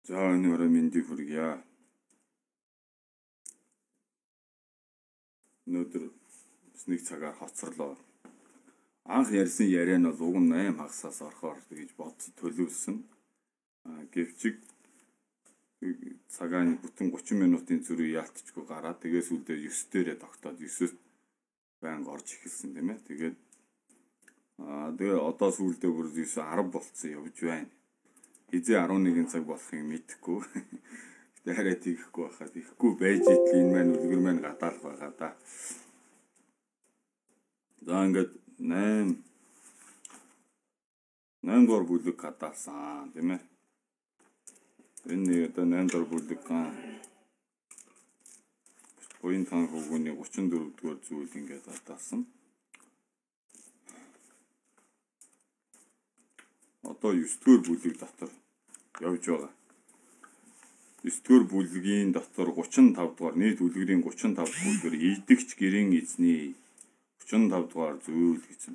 За өнөөдөр мэндийг хүргье. Өнөөдөр нэг цагаар хоцорлоо. Анх ярьсан яриа нь бол уг нь 8 хагасаас орохоор гэж бодсон төлөвлөсөн. Гэвч цагааны бүтэн 30 минутын зүрх яалтчгүй гараад тэгээс үлдээ 9 дээрээ тогтоод 9-өөс байнга орж эхэлсэн тийм ээ. Тэгээд тэгээ одоо сүүлдээ бүр 9 10 болцсон явж байна. Хизээ 11 цаг болохыг мэдэхгүй. Гэтэ хараа тийхгүй байхад ихгүй байж итэл энэ маань үлгэр маань гадаалх байгаа да. За ингээд 8 дугаар бүлэг гадаалсан тийм ээ. Энэ одоо 8 дугаар бүлэг буян таан хөвгүүний 34 дугаар зүйл ингээд гадаалсан. Одоо 9 дугаар бүлэг дотор явж байгаа. 9 дугаар бүлгийн дотор 35 дугаар нийт бүлгэрийн 35 бүлгэр идэгч гэрийн эзний 35 дугаар зүйл гэсэн.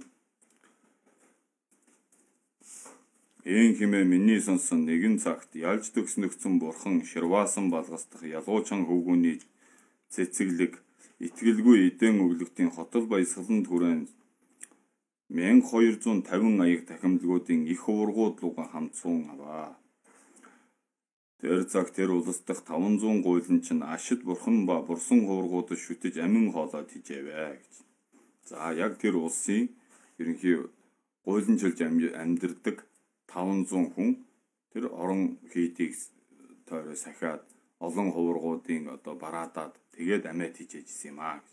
Ээн хэмээн миний сонсон нэгэн цагт ялж төгснөгцөн бурхан ширваасан балгасдах ялуучан хөвгүүний цэцэглэг итгэлгүй эдэн өвлөгтийн хотол баясгалан түрэн 1250 аяг тахимдлагуудын их ургууд луга хамтсуун аваа. Тэр цаг тэр улс дахь 500 гуйлан чинь ашид бурхан ба бурсан хуургуудад шүтэж амин хоолоод хижээвэ гэж. За яг тэр улсын ерөнхий гуйланчилж амьдэрдэг 500 хүн тэр орон хийдийг тойроо сахиад олон хуургуудын одоо бараадаад тэгээд амиад хижээжсэн юм аа.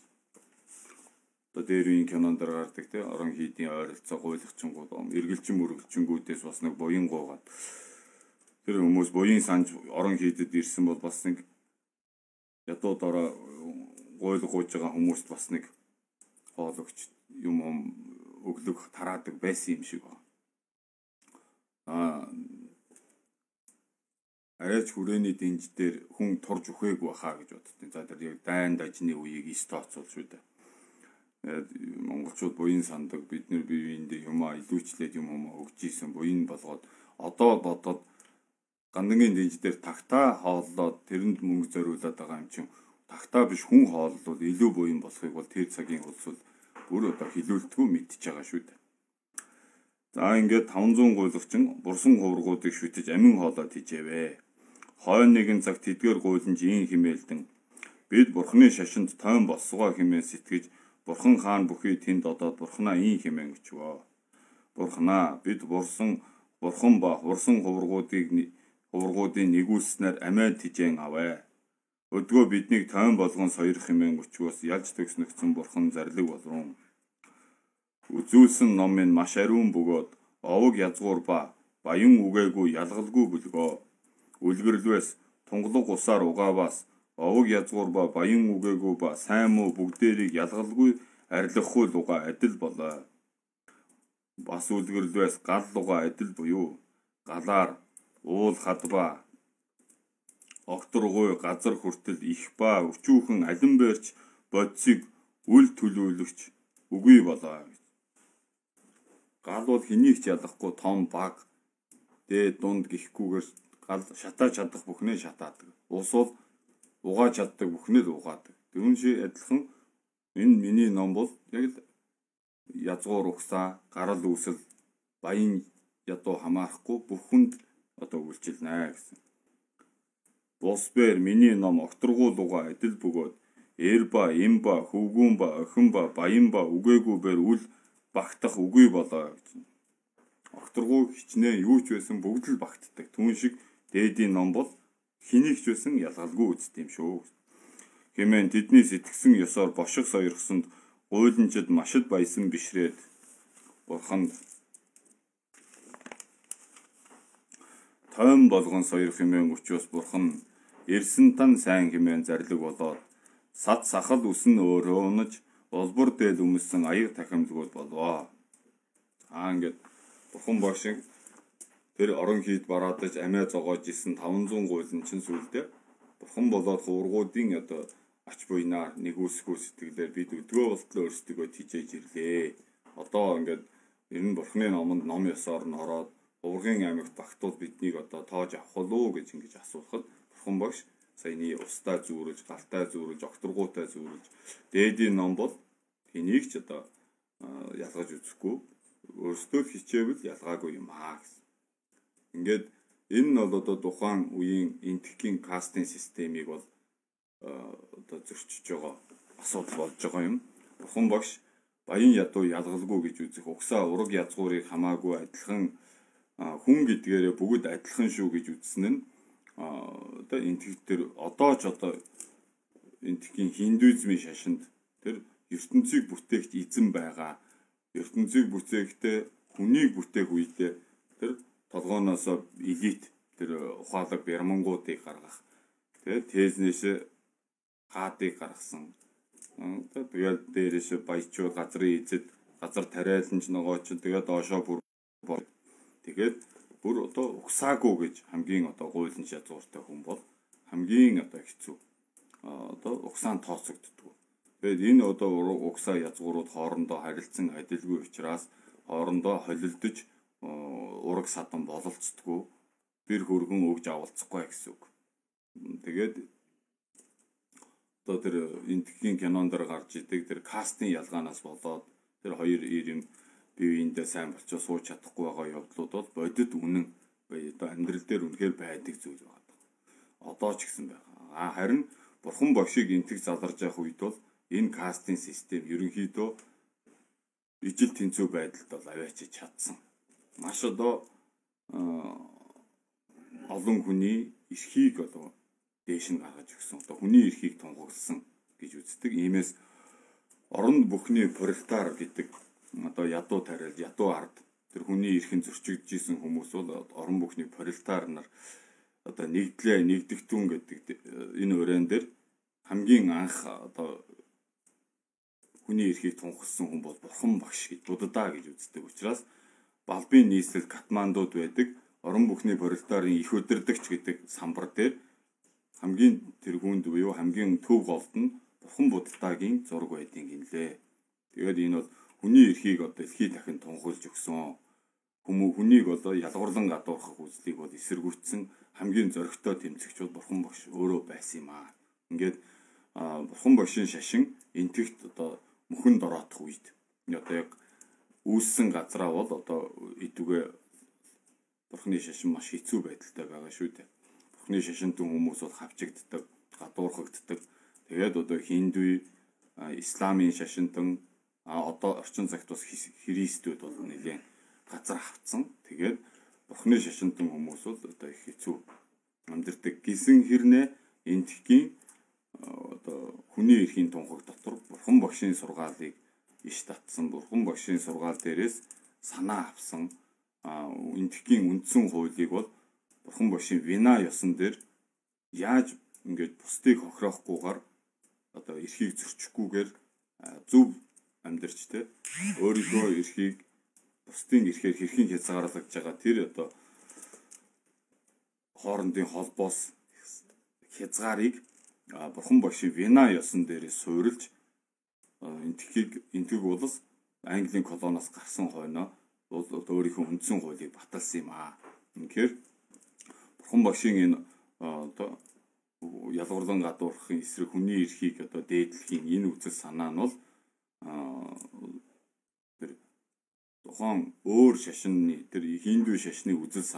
Одоо дээр үеийн кинонд гардаг те орон хийдийн ойролцоо гуйлагчингууд эргэлжин мөргөлчингүүдээс бас нэг буян гуугаад тэр хүмүүс буян санж орон хийдэд ирсэн бол бас нэг ядуудаараа гуйлах гуйж байгаа хүмүүст бас нэг хоологч юм өглөх тараадаг байсан юм шиг байна. Арайч хүрээний дэнж дээр хүн турж өгөөгүй баха гэж боддیں۔ За тэр яг дайн дажны үеийг стооцол шүү дээ. Монголчууд буян сандаг бид нэр биеиндээ юм илүүчлээд юм өгч ийсэн буян болгоод одоо бодоод гандангийн дэнж дээр тагтаа хооллоод тэрэнд мөнгө зориулаад байгаа юм чинь тагтаа биш хүн хооллол илүү буян болохыг бол тэр цагийн улс бол бүр одоо хилүүлтгүү мэдчихэж байгаа шүү дээ. За ингээд 500 гуйлагчин бурсан хувргуудыг шүтэж амин хоолоод хижээвэ. Хойно нэгэн цаг тэдгээр гуйланж ийн химээлдэн бид бурхны шашинд тойн болсгоо хэмээн сэтгэж бурхан хаан бүхий тэнд одоод бурхнаа ийн хэмээн өчвөө. Бурханаа бид бурхан ба хурсан хуваргуудын нэгүүлснээр амиа тижээн аваа. Өдгөө биднийг тойн болгон сойрох хэмээн өчгөөс ялж төгснөгцөн бурхан зарлиг болрон. Үзүүлсэн ном минь маш ариун бөгөөд овог язгуур ба баян үгээгүй ялгалгүй бүлгөө. Үлгэрлвэс тунгалаг усаар угааваас овог язгуур ба баян үгээгүй ба сайн муу бүгдээрийг ялгалгүй арилгахгүй луга адил болоо. Бас үлгэрлвэс гал луга адил буюу галаар уул хадба огторгой газар хүртэл их ба өчүүхэн алин бэрч бодисыг үл төлөвлөгч үгүй болоо. Гал бол хэнийг ч ялахгүй том баг дээд дунд гихгүйгээр гал шатааж чадах бүхнээ шатаадаг. Ус бол угааж чаддаг бүхнээ л угаадаг. Тэрүүн шиг адилхан энэ миний ном бол яг л язгуур угсаа, гарал үүсэл, баян ядуу хамаарахгүй бүхэнд одоо үйлчилнэ гэсэн. Босбэр миний ном огторгуулуга адил бөгөөд эр ба, им ба, хөвгүүн ба, охин ба, баян ба, үгээгүй бэр үл багтах үгүй болоо гэсэн. Огторгуу хичнээн юу ч байсан бүгд л багтдаг. Түүн шиг дээдийн ном бол хэнийг ч байсан ялгалгүй үзт юм шүү. Хэмээн тэдний сэтгсэн ёсоор бошиг сойрхсонд гуйланчид машид баясан бишрээд бурханд тойм болгон сойрох хэмээн өчөөс бурхан эрсэн тан сайн хэмээн зарлиг болоод сад сахал үсэн өөрөө унаж олбор дээл өмссөн аяг тахимдгууд болвоо. Ингээд бурхан бошиг тэр орон хийд бараадаж амиа зогоож исэн 500 гуйлан чин сүлдээ бурхан болоод хуваргуудын одоо ач буйнаар нэгүсэхгүй сэтгэлээр бид өдгөө болтлоо өөрсдөө тижээж ирлээ. Одоо ингээд ер нь бурханы номонд ном ёсоор нь ороод Хуваргын аймагт багтуул биднийг одоо тоож авах болов гэж ингэж асуухад бурхан багш саяны устаа зүүрэж, галтаа зүүрэж, огторгуутай зүүрэж дээдийн ном бол энийг ч одоо ялгаж үзэхгүй өөрсдөө хичээвэл ялгаагүй юм аа гэсэн. Ингээд энэ нь бол одоо тухайн үеийн энтхийн кастинг системийг бол одоо зөрчиж байгаа асуудал болж байгаа юм. Бурхан багш баян ядуу ялгалгүй гэж үзэх угсаа ураг язгуурыг хамаагүй адилхан хүн гэдгээрээ бүгд адилхан шүү гэж үзсэн нь одоо энтхтэр одоо ч одоо энтхийн хиндуизмын шашинд тэр ертөнцийг бүтээгч эзэн байгаа. ертөнцийг бүтээхдээ хүнийг бүтээх үедээ тэр толгооноос элит тэр ухаалаг бярмангуудыг гаргах тэгээд тээзнээс хаадыг гаргасан. Тэгээд дээрээс баячууд газрын эзэд газар тариаланч ногоо ч тэгээд доошоо бүр тэгээд бүр одоо угсаагүй гэж хамгийн одоо гуйлан язгууртай хүн бол хамгийн одоо хэцүү одоо угсаан тооцогддог. Тэгээд энэ одоо угсаа язгуурууд хоорондоо харилцсан адилгүй учраас хоорондоо холилдож ураг садан бололцдоггүй бэр хөргөн өгж авалцахгүй гэсэн үг. Тэгээд одоо тэр энтхийн кинонд гарч идэг тэр кастинг ялгаанаас болоод тэр хоёр ирэн биеиндээ сайн болчихоо сууж чадахгүй байгаа явдлууд бол бодит үнэн одоо амьдрал дээр үнэхээр байдаг зүйл байна. Одоо ч гэсэн байгаа. Харин бурхан бошиг энтэг заларж явах үед бол энэ кастинг систем ерөнхийдөө ижил тэнцүү байдалд бол аваачиж чадсан. Маш одоо олон хүний эрхийг одоо дээш нь гаргаж өгсөн. Одоо хүний эрхийг тунгагласан гэж үздэг. Иймээс оронд бүхний пролетар гэдэг одоо ядуу тариал, ядуу ард тэр хүний эрхэн зөрчигдөж исэн хүмүүс бол орон бүхний пролетар нар одоо нэгдэгтүүн гэдэг энэ өрөөнд дээр хамгийн анх одоо хүний эрхийг тунхагласан хүн бол бурхан багш гэж буддаа гэж үздэг учраас Балбын нийслэл Катмандуд байдаг орон бүхний пролетарын их удирдагч гэдэг самбар дээр хамгийн тэргүүнд буюу хамгийн төв голд нь бурхан буддагийн зураг байдгийг гинлээ. Тэгээд энэ бол хүний эрхийг одоо дэлхий дахин тунхаглаж өгсөн. Хүнийг одоо ялгуурлан гадуурхах үзлийг бол эсэргүүцсэн хамгийн зоригтой тэмцэгч бол бурхан багш өөрөө байсан юм аа. Ингээд бурхан багшийн шашин энтэгт одоо мөхөн дороотох үед одоо яг үүссэн газраа бол одоо идүгэ бурханы шашин маш хэцүү байдалтай байгаа шүү дээ. Бурханы шашинтан хүмүүс бол хавчигддаг, гадуурхагддаг. Тэгээд одоо хиндуй, исламын шашинтан одоо орчин цагт бас христүүд бол нэлээд газар автсан. Тэгээд бурхны шашинтан хүмүүс бол одоо их хэцүү амьдэрдэг. Гисэн хэрнээ энтхийн одоо хүний эрхийн тунхаг дотор бурхан багшийн сургаалыг иш татсан. Бурхан багшийн сургаал дээрээс санаа авсан энтхийн үндсэн хуулийг бол бурхан багшийн вина ёсон дээр яаж ингээд бусдыг хохироохгүйгээр одоо эрхийг зөрчихгүйгээр зөв амьдарч те өөрийнхөө эрхийг бусдын эрхээр хэрхэн хязгаарлаж байгаа тэр одоо хоорондын холбоос хязгаарыг бурхан багшийн вина ёсон дээрээ суурилж энтхийг улс Английн колоноос гарсан хойноо бол өөрийнхөө үндсэн хуулийг баталсан юм аа. Үнэхээр бурхан багшийн энэ одоо ялгуурлан гадуурхахын эсрэг хүний эрхийг одоо дээдлэхийн энэ үзэл санаа нь бол тэр тухайн өөр шашны тэр хинду шашны үзэл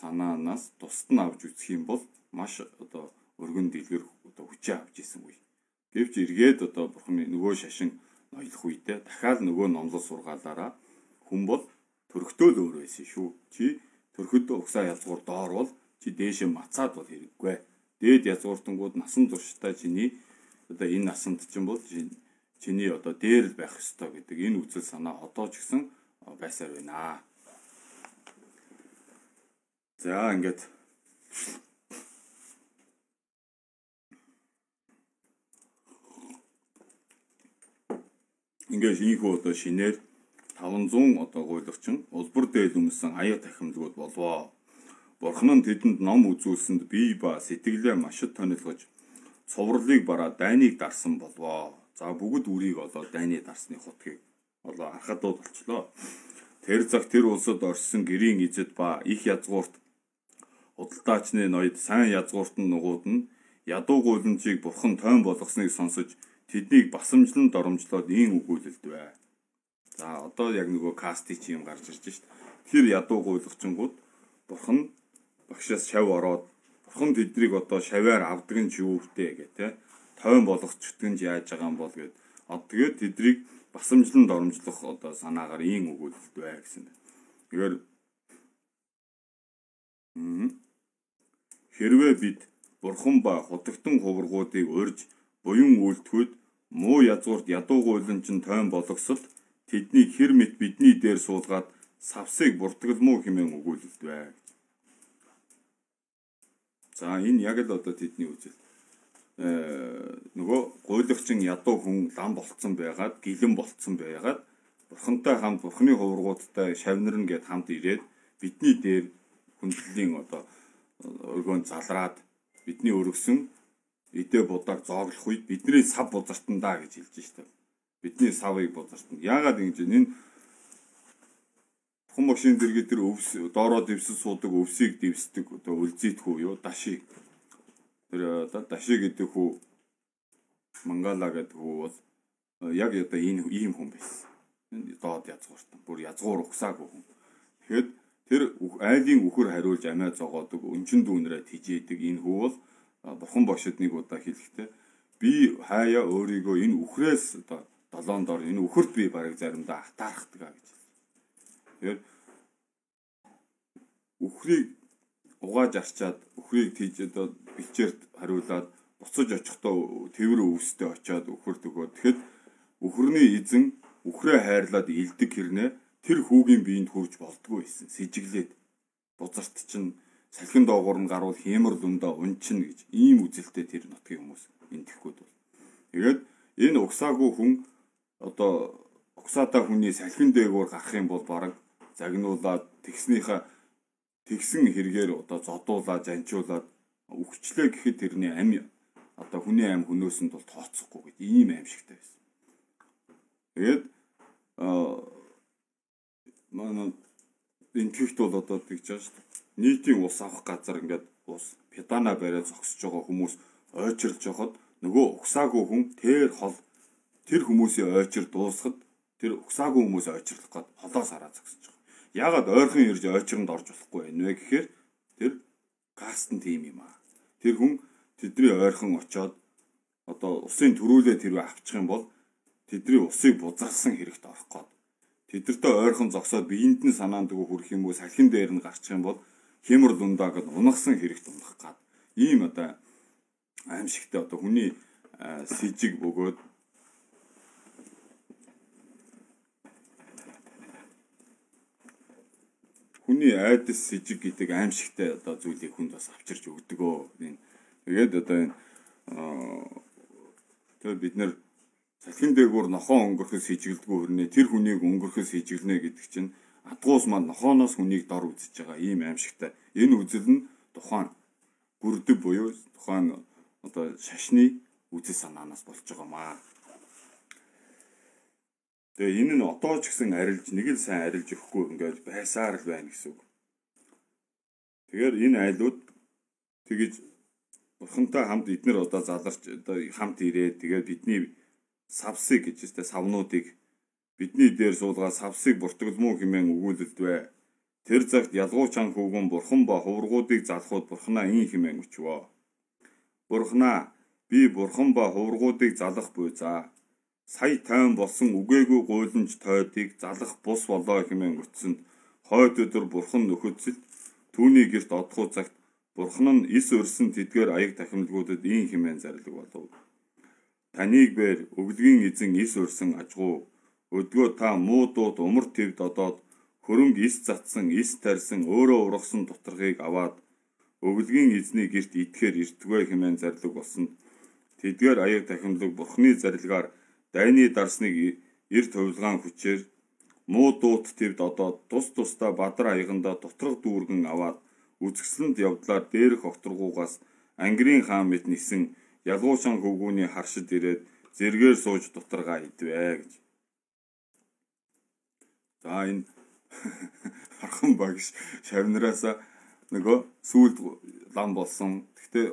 санаанаас тусад нь авч үзэх юм бол маш одоо өргөн дэлгэр одоо хүчээ авч ийсэнгүй. Гэвч эргээд одоо бурхны нөгөө шашин ноёлох үедээ дахиад нөгөө номлол сургаалаараа хүн бол төрхтөө л өөр байсан шүү. Чи төрхөд угсаа язгуур доор бол чи дээшээ мацаад бол хэрэггүй. Дээд язгууртангууд насан туршдаа чиний одоо энэ насанд чинь бол чиний одоо дээр л байх ёстой гэдэг энэ үзэл санаа одоо ч гэсэн байсаар байна. За ингээд ийхүү одоо шинээр 500 одоо гуйлагчин улбар дээл өмсөн аяа тахимдгууд болвоо. Бурхан нь тэдэнд ном үзүүлсэнд бие ба сэтгэлээ машид тонилгож цоврлыг бараа дайныг дарсан болвоо. За бүгд үрийг олоод дайны дарсны хутгийг олоо архадууд болчлоо. Тэр цаг тэр улсад оршсон гэрийн эзэд ба их язгуурт худалдаачны ноёд сайн язгууртан нугууд нь ядуу гуйламжийг бурхан тойн болгосныг сонсож тэднийг басамжлан доромжлоод ийм өгүүлэлдвэ. За одоо яг нөгөө кастик юм гарч ирж шít. Тэр ядуу гуйлагчингууд бурхан багшаас шав ороод бурхан тэднийг одоо шаваар авдаг нь юу втэ гэх те тойн болгоцчдөг нь яаж байгаа юм бол гэд тэгээд тэднийг басамжлан доромжлох одоо санаагаар ийм өгүүлэлдвэ гэсэн. Тэгэхээр хэрвээ бид бурхан ба хутагтан хуваргуудыг урьж буян үйлдэхүйд муу язгуурт ядуу гуйламжин тойн болгосод тэднийг хэр мэт бидний дээр суулгаад савсыг буртгалмуу хэмээн өгүүлэлдвэ. За энэ яг л одоо тэдний үзэл. Нөгөө гуйлагчин ядуу хүн лам болцсон байгаад гэлэн болцсон байгаад бурхантай хамт бурхны хуваргуудтай шавнарна гэд хамт ирээд бидний дээр хүндлэлийн одоо өргөнд залраад бидний өргөсөн эдээ будааг зооглох үед бидний сав бузартандаа гэж хэлж штэ. Бидний савыг бузартна. Яагаад ингэж энэ хүн машин зэрэг тэр өвс доороо дэвсэл суудаг өвсийг дэвсдэг одоо үлзийдхүү юу дашиг. Тэр одоо дашиг гэдэг хүү Мангала гэдэг хүү бол яг одоо энэ ийм хүн байсан. Доод язгууртан. Бүр язгуур угсаагүй хүн. Тэгэхэд тэр айлын үхэр хариулж амиа зогоодог өнчин дүүнрээ тижээдэг энэ хүү бол бурхан багшид нэг удаа хэлэхдээ би хаяа өөрийгөө энэ үхрээс одоо долоон дор энэ үхэрт би бараг заримдаа атаархдаг гэж. Тэгэхээр үхрийг угааж арчаад үхрийг тийж одоо бичээрт хариулаад буцаж очихдоо тэвэр өвстэй очиад үхэрт өгөө. Тэгэхэд үхрний эзэн үхрээ хайрлаад илдэг хэрнээ тэр хүүгийн биеинд хүрж болдгоо байсан. Сэжиглээд бузарт чинь салхин доогуур нь гарвал хэмэр лундаа унчна гэж ийм үзэлтэй тэр нутгийн хүмүүс энтэхгүйд бол. Тэгээд энэ угсаагүй хүн одоо угсаатай хүний салхин дээгүүр гарах юм бол бараг загнуулаад тэгсэн хэрэгээр одоо зодуулаад жанчуулаад үхчлээ гэхэд тэрний ам одоо хүний ам хөнөөсөнд бол тооцохгүй гэж ийм аимшигтай байсан. Тэгээд манай энтгэхт бол одоо тэгж байгаа шүү дээ. Нийтийн ус авах газар ингээд ус педана бариад зогсож байгаа хүмүүс ойчирлж явахад нөгөө угсаагүй хүн тэр хүмүүсийн ойчир дуусахад тэр угсаагүй хүмүүс ойчирлах гээд холоос хараа зогсож байгаа. Яагаад ойрхон ирж ойчиронд орж болохгүй байна вэ гэхээр тэр кастн тим юм аа. Тэр хүн тэдний ойрхон очиод одоо усын төрүүлээ тэрвээ авчих юм бол тэдний усыг бузарсан хэрэгт орох гээд тэдэртээ ойрхон зогсоод биеинд нь санаанд хүрэх юм уу, салхин дээр нь гарчих юм бол хямар дундаа гэд унагсан хэрэгт унах гад. Ийм одоо аимшигтай одоо хүний сэжиг бөгөөд хүний айдас сэжиг гэдэг аимшигтай одоо зүйлийг хүнд бас авчирч өгдөг. Тэгээд одоо энэ тэгээд бид нэр салхин дээгүүр нохоо өнгөрөхөс хижгэлдэггүй хөрнө. Тэр хүнийг өнгөрөхөс хижгэлнэ гэдэг чинь адгуус маань нохооноос хүнийг дор үзэж байгаа ийм аимшигтай. Энэ үзэл нь тухайн бүрдэв буюу тухайн одоо шашны үзэл санаанаас болж байгаамаа. Тэгээ энэ нь одоо ч гэсэн арилж нэг л сайн арилж өгөхгүй ингээд байсаар л байна гэсэн үг. Тэгэхээр энэ айлууд тэгэж бурхантай хамт эднэр одоо заларч одоо хамт ирээд тэгээд бидний савсыг гэж үстэй савнуудыг бидний дээр суулгаад савсыг буртгалмуу хэмээн өгүүлэлдвэ. Тэр цагт ялгуучаан хүүгэн бурхан ба хуврагуудыг залахууд бурханаа ин хэмээн өчвөө. Бурханаа би бурхан ба хуврагуудыг залах буй за. Сая тайван болсон үгээгүй гуйланж тойдыг залах бус болоо хэмээн өтсөнд хойд өдөр бурхан нөхөдсөлд түүний гэрт одохуу цагт бурхан нь ис өрсөн тэдгээр аяг тахимлагуудад ин хэмээн зарлиг болов. Таныг бээр өвлгийн эзэн ис өрсөн ажгуу өдгөө та муу дуут умар твд одоод хөрөнгө ис затсан ис тарьсан өөрөө ургасан доторхыг аваад өвлгийн эзний гэрт идэхээр иртгвэ хэмээн зарлиг болсонд тэдгээр аяг тахимлаг бурханы зарилгаар дайны дарсныг эрт хувилгаан хүчээр муу дуут твд одоод тус тусдаа бадар аяганда доторх дүүргэн аваад үзэсгэлэнт явдлаар дээрх окторгуугаас ангирын хаан мэт нисэн ялгуучаан хөвгүүний харшид ирээд зэргээр сууж дутаргаа идвэ гэж. За энэ хархан багш шавнараасаа нөгөө сүүлд лам болсон. Гэхдээ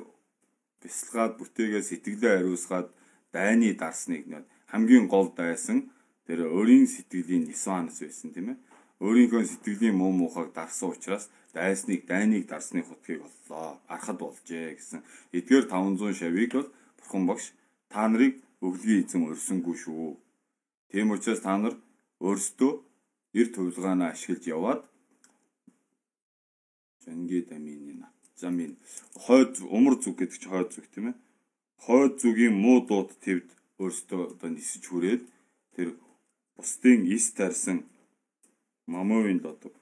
бясалгаад бүтээгээ сэтгэлээ хариуцгаад дайны дарсныг хамгийн гол дайсан тэр өөрийн сэтгэлийн нисванс байсан тийм ээ. Өөрийнхөө сэтгэлийн муу мухайг дарсан учраас дайныг дарсны хутгийг оллоо. Арахад болжээ гэсэн. Эдгээр 500 шавийг бол бурхан багш та нарыг өвлгийн эзэн өрсөнгүй шүү. Тийм учраас та нар өөрсдөө эрт хувилгаанаа ашиглаж яваад жанги дамины замын хойд умар зүг гэдэг чинь хойд зүг тийм ээ. Хойд зүгийн муу дууд твд өөрсдөө одоо нисэж хүрээд тэр бусдын ис тарьсан мамовын додог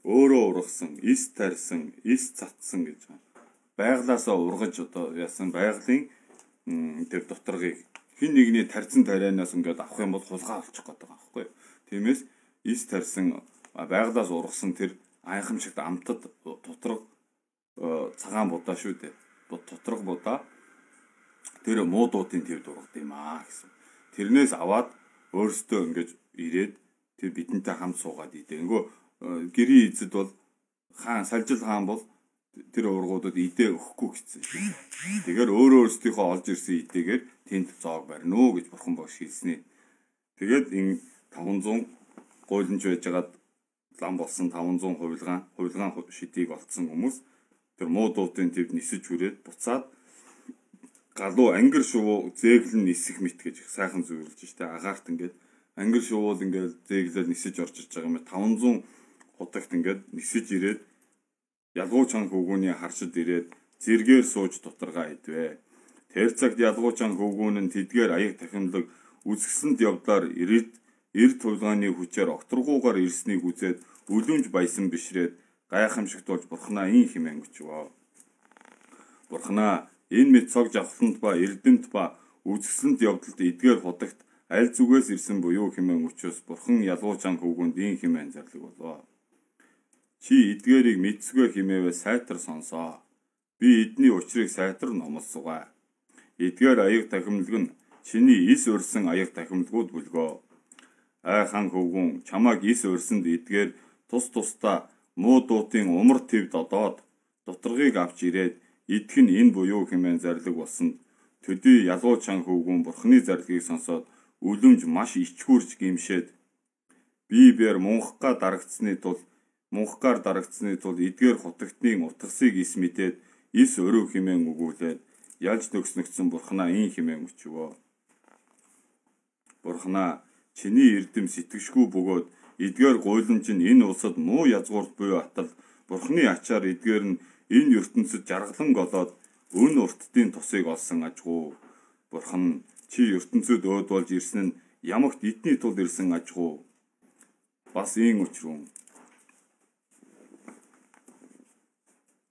өөрөө ургасан, ис тарьсан, ис цатсан гэж байна. Байглаасаа ургаж одоо яасан байгалийн тэр доторгыг хин нэгний тарьсан тарианаас ингээд авах юм бол хулгай олчих гээд байгаа байхгүй юу. Тиймээс ис тарьсан байглаас ургасан тэр айхамшигт амтад доторг цагаан будаа шүү дээ. Доторг будаа тэр муу дуутын твд ургад юм аа гэсэн. Тэрнээс аваад өөрсдөө ингэж ирээд тэр бидэнтэй хамт суугаад идэ. Нөгөө гэрийн эзэд бол хаан Салжил хаан бол тэр ургуудад идэ өгөхгүй гэсэн. Тэгэхээр өөрөөсдийнхөө олж ирсэн идэгээр тэнд зоог барина уу гэж бурхан багш хэлснэ. Тэгээд энэ 500 гуйланж байжгаад лам болсон 500 хувилгаан шидийг олцсон хүмүүс тэр муу дуутын твд нисэж хүрээд буцаад галуу ангир шувуу зээглэн нисэх мэт гэж сайхан зөвлөж штэ агаарт ингээд ангир шувуул ингээд зээглэл нисэж орж иж байгаа юм 500 хутагт ингээд нисэж ирээд ялгуучаан хөвгүүний харшид ирээд зэргээр сууж дутаргаа идвэ. Тэр цагт ялгуучаан хөвгүүн нь тэдгээр аяг тахимлаг үзэсгэлэнт явдлаар эрт хувилгааны хүчээр окторгуугаар ирснийг үзээд үлэмж баясан бишрээд гайхамшигт болж бурхнаа ин хэмээн өчвөө. Бурхнаа энэ мэд цог жавхланд ба эрдэмт ба үзэсгэлэнт явдалд эдгээр хутагт аль зүгээс ирсэн буюу хэмээн өчөөс бурхан ялгуучаан хөвгүүнд ин хэмээн зарлиг болоо. Чи эдгээрийг мэдсгүй хэмээвэ сайтар сонсоо. Би эдний учрыг сайтар номлосгоо. Эдгээр аяг тахимлаг нь чиний ис өрсөн аяг тахимлагууд бүлгөө. Ай хаан хөвгүүн чамааг ис өрсөнд эдгээр тус тусдаа муу дуутын умар твд одоод доторгыг авч ирээд идэх нь энэ буюу хэмээн зарлиг болсон. Төдий ялгуучаан хөвгүүн бурхны зарлигийг сонсоод үлэмж маш ичгүүрж гимшээд би бээр мунхгаар дарагдсны тул эдгээр хутагтны утгасыг ис мэдээд ис өрөө хэмээн өгүүлээд Ялж төгснөгцсөн Бурханаа ийн хэмээн өчвөө. Бурханаа чиний эрдэм сэтгэшгүй бөгөөд эдгээр гуйлан чинь энэ улсад муу язгуурт буюу атал Бурханы ачаар эдгээр нь энэ ертөнцид жаргалан голоод өн урттын тусыг олсон ажгүй. Бурхан чи ертөнцид өөд болж ирсэн нь ямагт эдний тул ирсэн ажгүй. Бас ийм учруу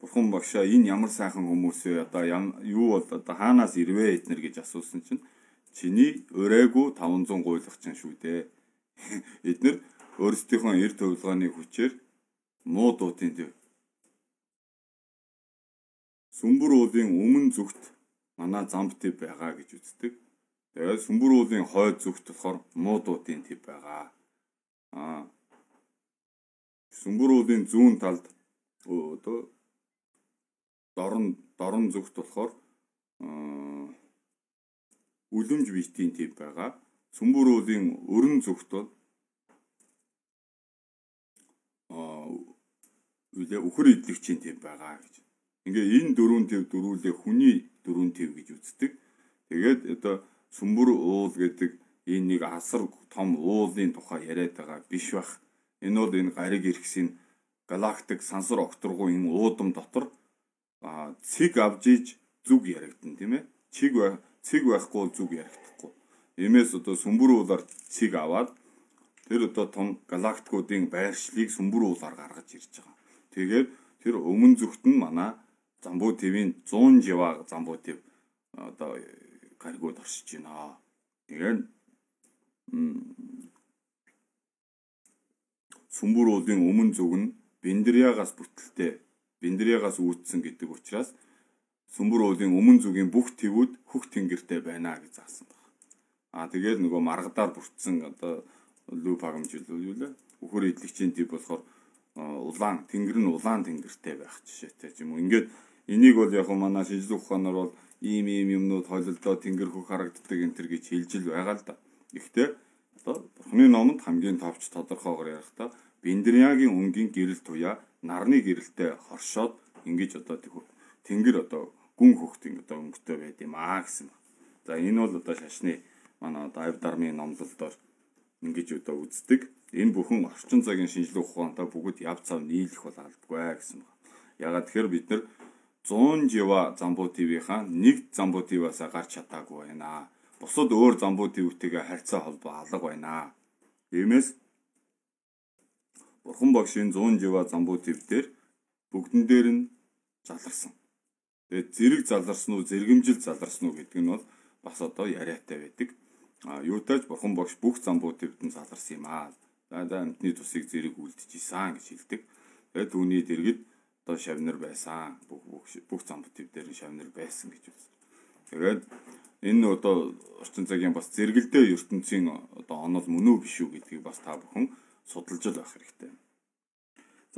Бурхан багшаа энэ ямар сайхан хүмүүс вэ? Одоо юу бол одоо хаанаас ирвэ эднэр гэж асуусан чинь чиний өрээгүй 500 гуйлах чинь шүү дээ. Эднэр өөрсдийнхөө эрд хувилгааны хүчээр муу дуутын төв. Сүмбэр уулын өмнө зүгт манай замб төв байгаа гэж үздэг. Тэгээд сүмбэр уулын хойд зүгт болохоор муу дуутын төв байгаа. Сүмбэр уулын зүүн талд одоо дорн зүгт болохоор үлэмж биетийн төв байгаа. Сүмбэр уулын өрн зүгт бол үхэр идэгчийн төв байгаа гэж. Ингээ энэ дөрвөн төв дөрвөлээ хүний дөрвөн төв гэж үздэг. Тэгээд одоо сүмбэр уул гэдэг энэ нэг асар том уулын тухай яриад байгаа биш бах. Энэ бол энэ гариг иргэсийн галактик сансар окторгуу энэ уудам дотор цэг авж иж зүг яригдана тийм ээ. Цэг байхгүй зүг яригдахгүй. Иймээс одоо сүмбэр уулаар цэг аваад тэр одоо том галактикуудын байршлыг сүмбэр уулаар гаргаж ирж байгаа. Тэгээд тэр өмнө зүгт нь манай замбуу твийн 100 жива замбуу тв одоо гаригууд оршиж байна. Тэгээд сүмбэр уулын өмнө зүг нь биндрягаас бүтэлтэй, биндрягаас үүдсэн гэдэг учраас сүмбэр уулын өмнө зүгийн бүх твүүд хөх тэнгэртэй байна гэж заасан байна. Тэгээд нөгөө маргадаар бүрдсэн одоо лүп хагамжил юу лээ? Үхэр идэгчийн төв болохоор улаан тэнгэр нь улаан тэнгэртэй байх жишээтэй юм уу. Ингээд энийг бол яг манай шинжлэх ухаанаар бол ийм юмнууд хойлолдоо тэнгэр хөх харагддаг энэ төр гэж хэлж л байгаа л да. Гэхдээ одоо Бурханы номонд хамгийн товч тодорхойгоор ярихдаа Биндрягийн өнгийн гэрэл туяа нарны гэрэлтэй хоршоод ингэж одоо тэнгэр одоо гүн хөхтийн одоо өнгөтэй байд юм гэсэн. За энэ бол одоо шашны манай одоо Авь дармын номлолдоор ингэж одоо үздэг. Энэ бүхэн орчин цагийн шинжлэх ухаантай бүгд яв цав нийлэх бол албагүй гэсэн байна. Ягаад тэгэхээр бид нар 100 жива замбуу твийнхаа нэг замбуу тваас гарч чадаагүй байна. Бусад өөр замбуу твтэйгээ харьцаа холбоо алга байна. Иймээс Бурхан багш энэ 100 жива замбуу тв дээр бүгдэн дээр нь заларсан. Тэгээд зэрэг заларсан уу, зэргэмжил заларсан уу гэдэг нь бол бас одоо яриатай байдаг. Юутайч Бурхан багш бүх замбуу твд нь заларсан юм аа. За амтны тусыг зэрэг үлдчихсэн гэж хэлдэг. Тэгээд түүний дэргэд одоо шавнар байсан. Бүх замбуу тв дээр нь шавнар байсан гэж үздэг. Тэгээд энэ одоо орчин цагийн бас зэрэгэлдээ ертөнцийн одоо онол мөн үү биш үү гэдгийг бас та бүхэн судалж л байх хэрэгтэй.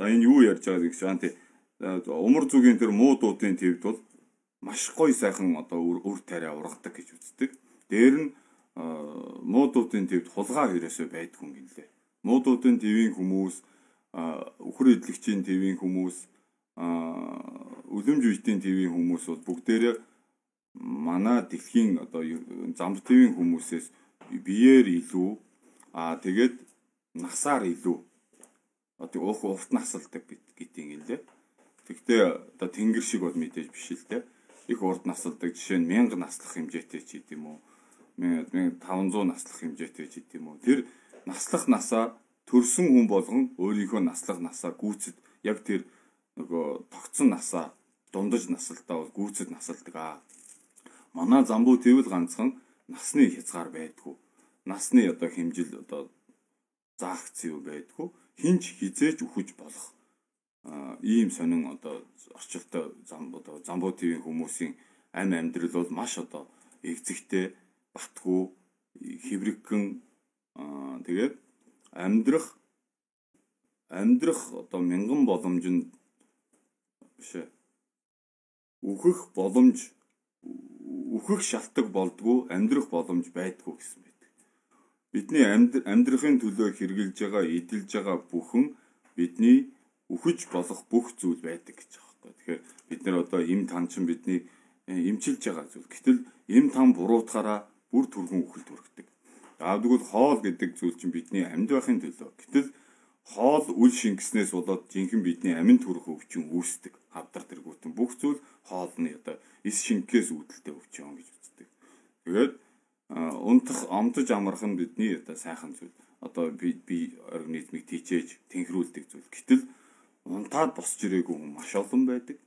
За энэ юу ярьж байгааг шаан тий умар зүгийн тэр муу дуутын твд бол маш гоё сайхан одоо үр тариа ургадаг гэж үздэг. Дээр нь муу дуутын твд хулгай хэрэгсээ байдгүй юм гэлээ. Муу дуутын твийн хүмүүс, үхэр идэлгчийн твийн хүмүүс, үлэмж үеийн твийн хүмүүс бол бүгдээрээ манай дэлхийн одоо замб твийн хүмүүсээс биеэр илүү тэгээд насаар илүү одоо урт насалдаг гэдгийг юм лээ. Тэгтээ одоо тэнгэр шиг бол мэдээж биш л дээ. Их урт насалдаг жишээ нь 1000 наслах хэмжээтэй ч гэдэм үү. 1500 наслах хэмжээтэй ч гэдэм үү. Тэр наслах насаа төрсөн хүн болгон өөрийнхөө наслах насаа гүйцэд яг тэр нөгөө тогтсон насаа дундаж насалтаа бол гүйцэд насалдаг. Манай замбуу твл ганцхан насны хязгаар байдгүй. Насны одоо хэмжил одоо заагц юу байдгүй. Хинч хизээж үхэж болох ийм сонин одоо орчилтой замбуу твийн хүмүүсийн амь амьдрал бол маш одоо эгзэгтэй, батгүй, хэврэгхэн тэгээд амьдрах одоо мянган боломж нь бишээ. Үхэх шалтгаан болдгоо амьдрах боломж байдгүй гэсэн байдаг. Бидний амьдрахын төлөө хэрглэж байгаа, эдэлж байгаа бүхэн бидний үхэж болох бүх зүйл байдаг гэж байгаа байхгүй. Тэгэхээр бид нар одоо эм танчин бидний эмчилж байгаа зүйл. Гэтэл эм там буруутахаараа бүр түргэн үхэлд хүргэдэг. Тэгвэл хоол гэдэг зүйл чинь бидний амьд байхын төлөө. Гэтэл хоол үл шингэснээс болоод жинхэнэ бидний амин төрөх өвчин үүсдэг. Хавдар тэргүүтэн бүх зүйл хоолны одоо эс шингэхээс үүдэлтэй өвчин гэж үздэг. Тэгээд унтах, омдож амрах нь бидний одоо сайхан зүйл. Одоо би организмыг тийчээж тэнхрүүлдэг зүйл. Гэтэл унтаад босч ирээгүй хүн маш олон байдаг.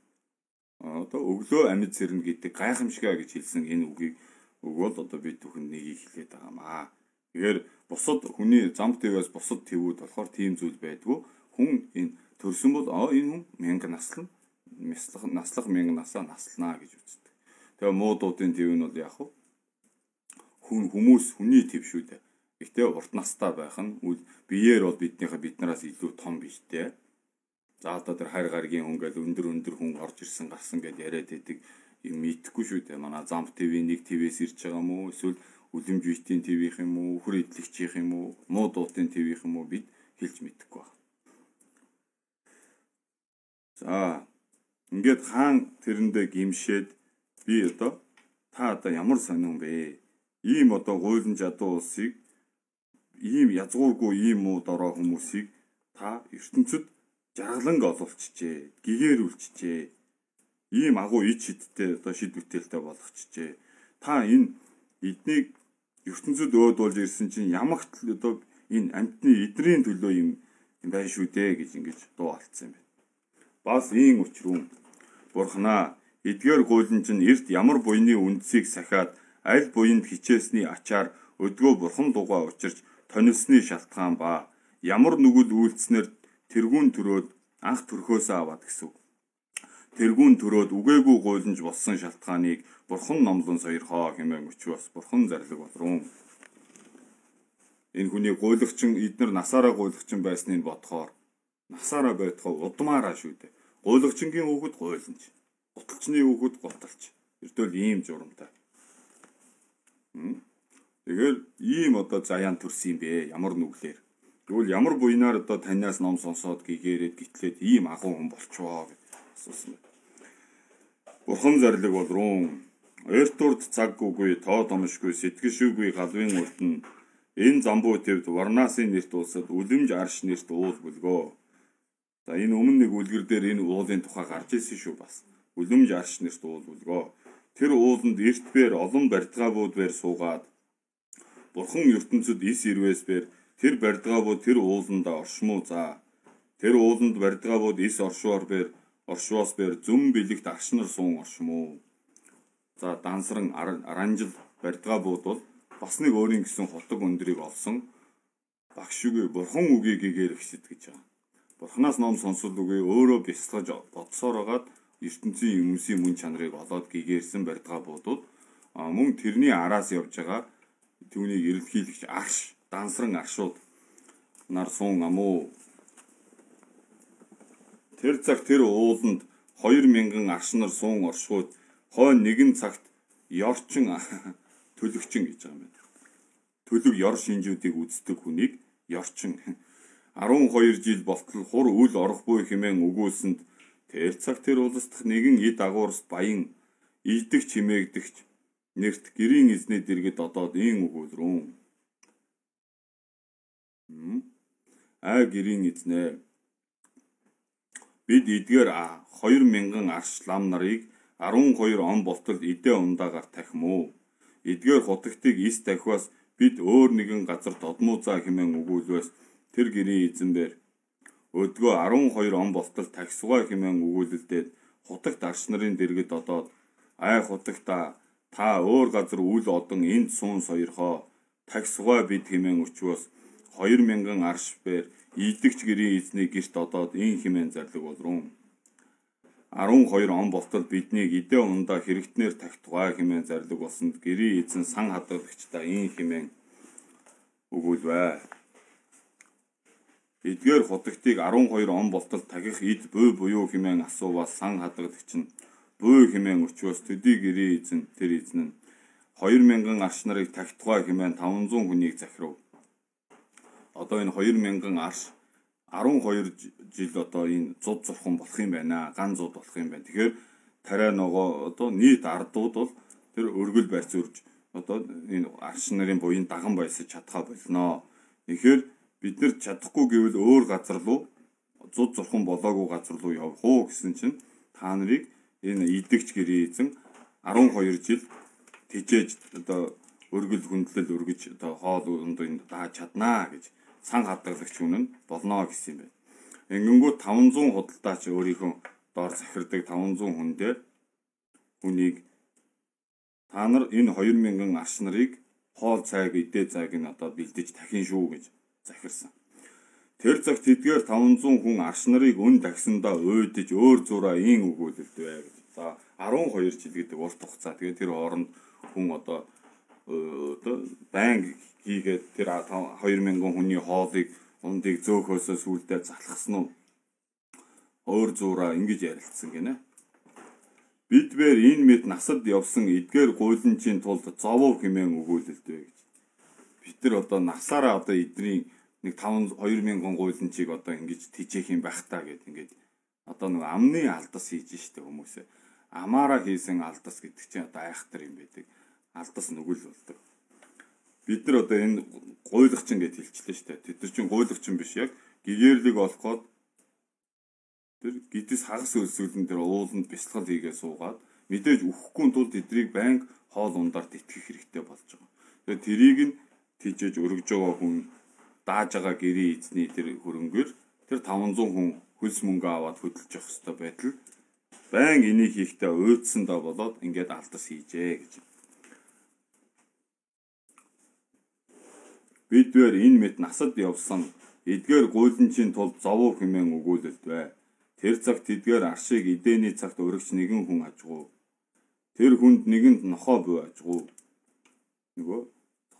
Одоо өглөө амьд сэрнэ гэдэг гайхамшигаа гэж хэлсэн энэ үгийг өгвөл одоо би түүхэн нэгийг хэлээд байгаамаа. Тэгэхээр бусад хүний зам твээс бусад твүүд болохоор тийм зүйл байдгүй. Хүн энэ төрсөн бол энэ хүн мянга наслах мянга насаа наслнаа гэж үздэг. Тэгээ муу дуудын тв нь бол яг хүний тв шүү дээ. Гэхдээ урт настай байх нь биеэр бол биднээс илүү том биш дээ. За одоо тэр хайр гаргийн хүн гэл өндөр хүн орж ирсэн гарсан гэж яриад байдаг юм мэдхгүй шүү дээ. Манай зам ТV нэг ТV-с ирж байгаа юм уу? Эсвэл үлэмж витийн ТV-х юм уу? Хөр идэлгчийнх юм уу? Муу дуудын ТV-х юм уу? Бид хэлж мэдэхгүй байна. За ингээд хаан тэрэндээ гимшээд би одоо та одоо ямар сонирн бэ? Ийм одоо гуйлан жадуу улсыг ийм язгуургүй ийм муу дорой хүмүүсийг та ертөнцид жаргаланг олуулчихжээ, гэгээрүүлчихжээ. Ийм агуу ид шидтэй одоо шид бүтээлтэй болгочихжээ. Та энэ эднийг ертөнцид өөдүүлж ирсэн чинь ямагт одоо энэ амьтны эдрийн төлөө юм байна шүү дээ гэж ингэж дуу алдсан юм байна. Бас ийм учруу Бурханаа эдгээр гуйлан чинь эрт ямар буйны үндсийг сахиад аль буйнд хичээсний ачаар өдгөө бурхан дугаа учирч тонилсны шалтгаан ба ямар нүгэл үйлцснээр тэргүүн төрөөд анх төрхөөсөө аваад гэсэн. Тэргүүн төрөөд үгээгүй гуйланж болсон шалтгааныг бурхан номлон сойрхоо хэмээн өчвөөс бурхан зарлиг болрон. Энэ хүний гуйлагчин эднэр насаараа гуйлагчин байсныг бодохоор насаараа байтугай удмаараа шүү дээ. Гуйлагчингийн хүүхэд гуйланч, гуталчны хүүхэд гуталч. Эртвэл ийм журамтай. Тэгэхээр ийм одоо заяан төрсөн юм бэ? Ямар нүглэр? Тэгвэл ямар буйнаар одоо танаас ном сонсоод гэгээрээд гитлээд ийм агуу хүн болчихвоо гэж асуусан байна. Бурхан зарлиг болрон. Эрт урд цаг үгүй, тоо томшгүй, сэтгэшүүгүй галвын урд нь энэ замбуу твд Варнасын нэрт улсад үлэмж арш нэрт уул бүлгөө. За энэ өмнө нэг үлгэр дээр энэ уулын тухай гарч ирсэн шүү бас. Үлэмж арш нэрт уул бүлгөө. Тэр ууланд эрт бээр олон барьдгаабууд бээр суугаад Бурхан ертөнцид ис ирвээс бээр тэр барьдгаабууд тэр ууланда оршмуу за. Тэр ууланд барьдгаабууд ис оршвоос бээр зүм бэлэгт аршнар суун оршмуу. За дансран аранжил барьдгаабууд бол бас нэг өөрийн гэсэн хутаг өндрийг олсон багш үгүй бурхан үгийг гэгээр ихсэд гэж байгаа. Бурханаас ном сонсол үгүй өөрөө бясалгаж бодсоороод ертөнцийн хүмүүсийн мөн чанарыг олоод гэгээрсэн барьдгаабуудууд мөн тэрний араас явж байгаа түүнийг эрэлхийлэгч арш, дансран аршууд нар суун амуу. Тэр цаг тэр ууланд 2000 аршнар суун оршууд хойно нэгэн цагт ёрчин төлөгчин гэж байгаа юм байна. Төлөг ёр шинжүүдийг үздэг хүнийг ёрчин 12 жил болтол хур үл орохгүй хэмээн өгүүлсэнд тэр цаг тэр улсдах нэгэн эд агуурс баян ийдэг чимээгдэгч нэрт гэрийн эзний дэргэд одоод ийм өгүүлрүүн. Гэрийн эзнээ бид эдгээр 2000 арш лам нарыг 12 он болтол эдээ ундаагаар тахимуу. Эдгээр хутагтыг ис дахиас бид өөр нэгэн газар додмуузаа хэмээн өгүүлвэс тэр гэрийн эзэнбэр өдгөө 12 он болтол тахисугаа хэмээн өгүүлэлдээд хутагт арш нарын дэргэд одоод хутагта та өөр газар үл одон энд суун сойрхоо тахисугаа бид хэмээн өчвөөс 2000 арш бээр ийдэгч гэрийн эзний гэрт одоод ин хэмээн зарлиг болрун. 12 он болтол биднийг эдээ ундаа хэрэгтнэр тагтугай хэмээн зарлиг болсонд гэрийн эзэн сан хадгалагчдаа ин хэмээн өгүүлвэ. Эдгээр хутагтыг 12 он болтол тагих эд буй буюу хэмээн асууваас сан хадгалагч нь буй хэмээн өчвөөс төдий гэрийн эзэн тэр эзэн нь 2000 арш нарыг тагтугай хэмээн 500 хүнийг захирав. Одоо энэ 2000 арш 12 жил одоо энэ зуд зурхан болох юм байна. Ган зуд болох юм байна. Тэгэхээр тариа ногоо одоо нийт ардууд бол тэр өргөл барьц үрж одоо энэ арш нарын буян даган баясаж чадхаа болно. Тэгэхээр бид нэр чадахгүй гэвэл өөр газар руу зуд зурхан болоогүй газар руу явах уу гэсэн чинь та нарыг энэ идэгч гэрээ эзэн 12 жил тижээж одоо өргөл хүндлэл өргөж одоо хоол ундын дааж чаднаа гэж сан хадгалагч хүн нь болно гэсэн юм байна. Ингэнгүүт 500 худалдаач өөрийнхөө доор захирдаг 500 хүн дээр хүнийг та нар энэ 2000 арш нарыг хоол цайг идээ цайг нь одоо бэлдэж тахин шүү гэж захирсан. Тэр цагт тэдгээр 500 хүн арш нарыг өн тагсандаа уйдаж өөр зураа ийн өгүүлэлтвэ гэж. За 12 жил гэдэг урт хугацаа. Тэгээд тэр хооронд хүн одоо банк хийгээд тэр 2000 хүний хоолыг ундыг зөөхөөсөө сүулдэ залхсан уу? Өөр зураа ингэж ярилцсан гинэ. Бидвэр энэ мэд насад явсан эдгээр гуйланчийн тулд зовов хэмээн өгүүлэлтвэ гэж. Бид нар одоо насаараа одоо эдний нэг 2000 гуйланчийг одоо ингэж тижээх юм байх та гэд ингэж одоо нэг амны алдас хийж штэ хүмүүсээ. Амаараа хийсэн алдас гэдэг чинь одоо айхтар юм байдаг. Алдас нүгэл болдог. Бид нар одоо энэ гуйлагчин гэж хэлчихлээ штэ. Тэд нар чинь гуйлагчин биш яг гэгэрлэг олоход тэр гидс хагас өлсгөлн тэр ууланд бясалгал хийгээ суугаад мэдээж өхгүй тулд эдрийг банк хоол ундаар тэтгэх хэрэгтэй болж байгаа. Тэгэхээр тэрийг нь тийжээж өргөж байгаа хүн дааж байгаа гэрээ эзний тэр хөрөнгөөр тэр 500 хүн хөлс мөнгө аваад хөдөлж явах хэрэгтэй байтал банк энийг хийхдээ уйдсандаа болоод ингээд алдас хийжээ гэж. Бидвэр энэ мэт насад явсан эдгээр гуйланчийн тулд зовов хэмээн өгүүлэлтвэ. Тэр цагт тэдгээр аршийг эдээний цагт өргөч нэгэн хүн ажгүй. Тэр хүнд нэгэнд нохоо буй ажгүй. Нөгөө